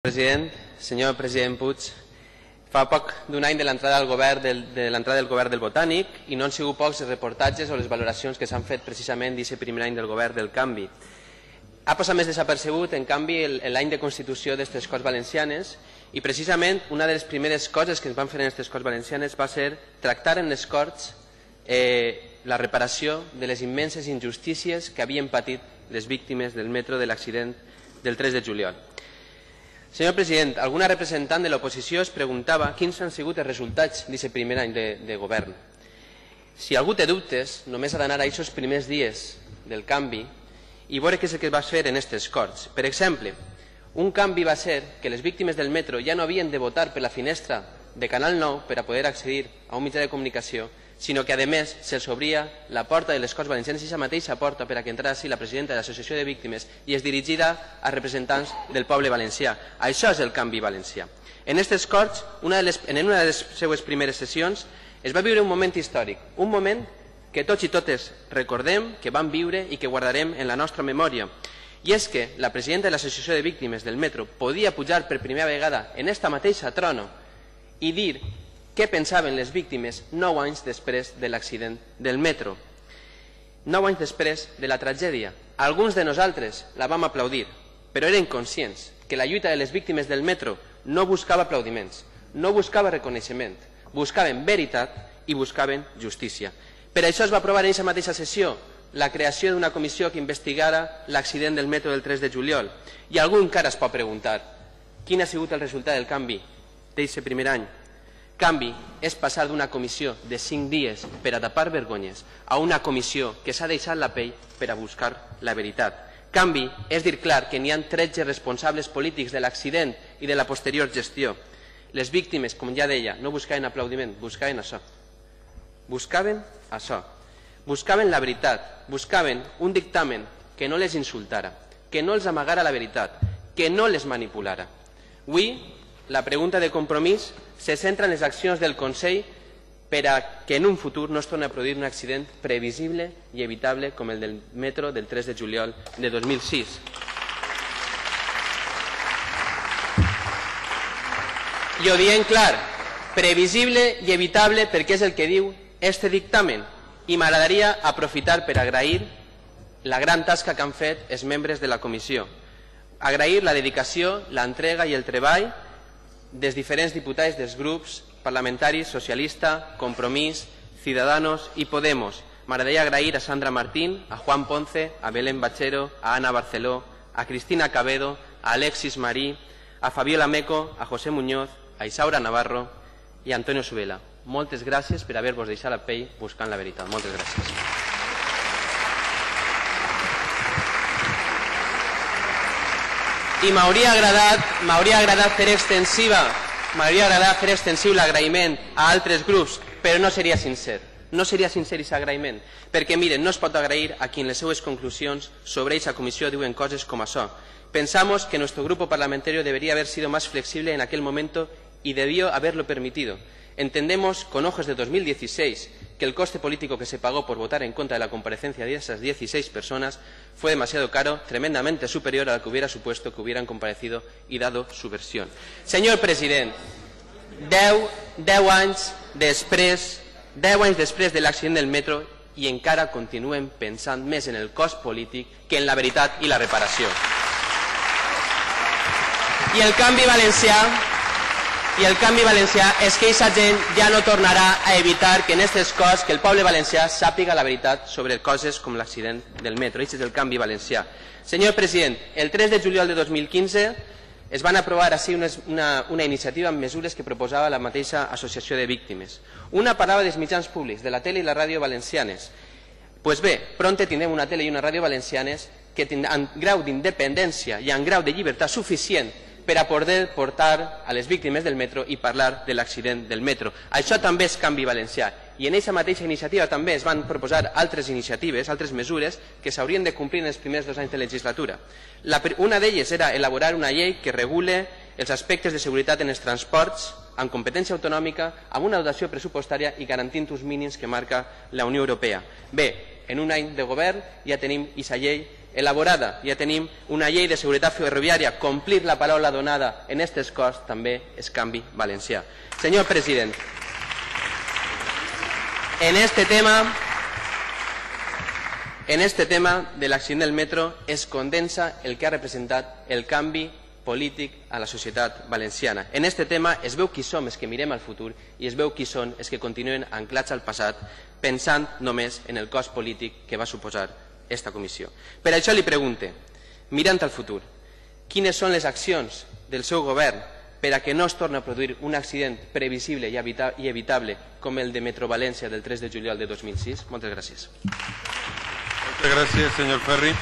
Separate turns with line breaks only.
President, senyor president Puig, fa poc d'un any de l'entrada del govern del Botànic i no han sigut pocs els reportatges o les valoracions que s'han fet precisament d'aquest primer any del govern del canvi. Ha passat més desapercebut, en canvi, l'any de constitució d'aquestes Corts Valencianes i precisament una de les primeres coses que es van fer en aquestes Corts Valencianes va ser tractar en les Corts la reparació de les immenses injustícies que havien patit les víctimes del metro de l'accident del 3 de juliol. Senyor president, alguna representant de l'oposició es preguntava quins han sigut els resultats d'aquest primer any de govern. Si algú té dubtes, només ha d'anar a aquests primers dies del canvi i veure què és el que es va fer en aquestes Corts. Per exemple, un canvi va ser que les víctimes del metro ja no havien de votar per la finestra de Canal 9 per a poder accedir a un mitjà de comunicació, sinó que, a més, se'ls obria la porta de les Corts Valencianes, aquesta mateixa porta per a que entrassi la presidenta de l'Associació de Víctimes i és dirigida a representants del poble valencià. Això és el canvi valencià. En aquestes Corts, en una de les seues primeres sessions, es va viure un moment històric, un moment que tots i totes recordem, que vam viure i que guardarem en la nostra memòria. I és que la presidenta de l'Associació de Víctimes del metro podia pujar per primera vegada en esta mateixa trono i dir què pensaven les víctimes 9 anys després de l'accident del metro. 9 anys després de la tragèdia. Alguns de nosaltres la vam aplaudir, però eren conscients que la lluita de les víctimes del metro no buscava aplaudiments, no buscava reconeixement, buscaven veritat i buscaven justícia. Per això es va aprovar en aquesta mateixa sessió la creació d'una comissió que investigara l'accident del metro del 3 de juliol. I algú encara es pot preguntar quin ha sigut el resultat del canvi d'aquest primer any. Canvi és passar d'una comissió de 5 dies per a tapar vergonyes a una comissió que s'ha deixat la pell per a buscar la veritat. Canvi és dir clar que n'hi ha 13 responsables polítics de l'accident i de la posterior gestió. Les víctimes, com ja deia, no buscaven aplaudiment, buscaven això. Buscaven això. Buscaven la veritat, buscaven un dictamen que no les insultara, que no els amagara la veritat, que no les manipulara. Avui, la pregunta de Compromís se centra en les accions del Consell per a que en un futur no es torni a produir un accident previsible i evitable com el del metro del 3 de juliol de 2006. I ho diem clar, previsible i evitable perquè és el que diu este dictamen. I m'agradaria aprofitar per agrair la gran tasca que han fet els membres de la comissió. Agrair la dedicació, l'entrega i el treball dels diferents diputats dels grups parlamentaris Socialista, Compromís, Ciudadanos i Podemos. M'agradaria agrair a Sandra Martín, a Juan Ponce, a Belén Bachero, a Ana Barceló, a Cristina Cabedo, a Alexis Marí, a Fabiola Meco, a José Muñoz, a Isaura Navarro i a Antonio Subela. Moltes gràcies per haver-vos deixat la pell buscant la veritat. Moltes gràcies. I m'hauria agradat fer extensiu l'agraïment a altres grups, però no seria sincer. No seria sincer aquest agraïment, perquè miren, no es pot agrair a qui en les seues conclusions sobre aquesta comissió diuen coses com això. Pensamos que nuestro grupo parlamentario debería haber sido más flexible en aquel momento y debió haberlo permitido. Entendemos, con ojos de 2016, que el coste político que se pagó por votar en contra de la comparecencia de esas 16 personas fue demasiado caro, tremendamente superior a lo que hubiera supuesto que hubieran comparecido y dado su versión. Senyor president, 10 anys després de l'accident del metro i encara continuen pensant més en el cost polític que en la veritat i la reparació. I el canvi valencià és que aquesta gent ja no tornarà a evitar que en aquestes coses que el poble valencià sàpiga la veritat sobre coses com l'accident del metro. Aquest és el canvi valencià. Senyor president, el 3 de juliol de 2015 es van aprovar així una iniciativa amb mesures que proposava la mateixa Associació de Víctimes. Una parlava dels mitjans públics, de la tele i la ràdio valencianes. Doncs bé, prompte tindrem una tele i una ràdio valencianes que tindran grau d'independència i en grau de llibertat suficient per a poder portar a les víctimes del metro i parlar de l'accident del metro. Això també és canvi valencià. I en aquesta mateixa iniciativa també es van proposar altres iniciatives, altres mesures que s'haurien de complir en els primers 2 anys de legislatura. Una d'elles era elaborar una llei que regule els aspectes de seguretat en els transports amb competència autonòmica, amb una dotació pressupostària i garantint uns mínims que marca la Unió Europea. Bé, en un any de govern ja tenim aquesta llei elaborada, ja tenim una llei de seguretat ferroviària, complir la paraula donada en aquestes coses també és canvi valencià. Senyor president, en este tema de l'accident del metro es condensa el que ha representat el canvi polític a la societat valenciana. En aquest tema es veu qui som els que mirem al futur i es veu qui són els que continuen anclats al passat pensant només en el cost polític que va suposar aquesta comissió. Per això li pregunte, mirant al futur, quines són les accions del seu govern per a que no es torni a produir un accident previsible i evitable com el de Metro València del 3 de juliol de 2006? Moltes gràcies.
Moltes gràcies, senyor Ferri.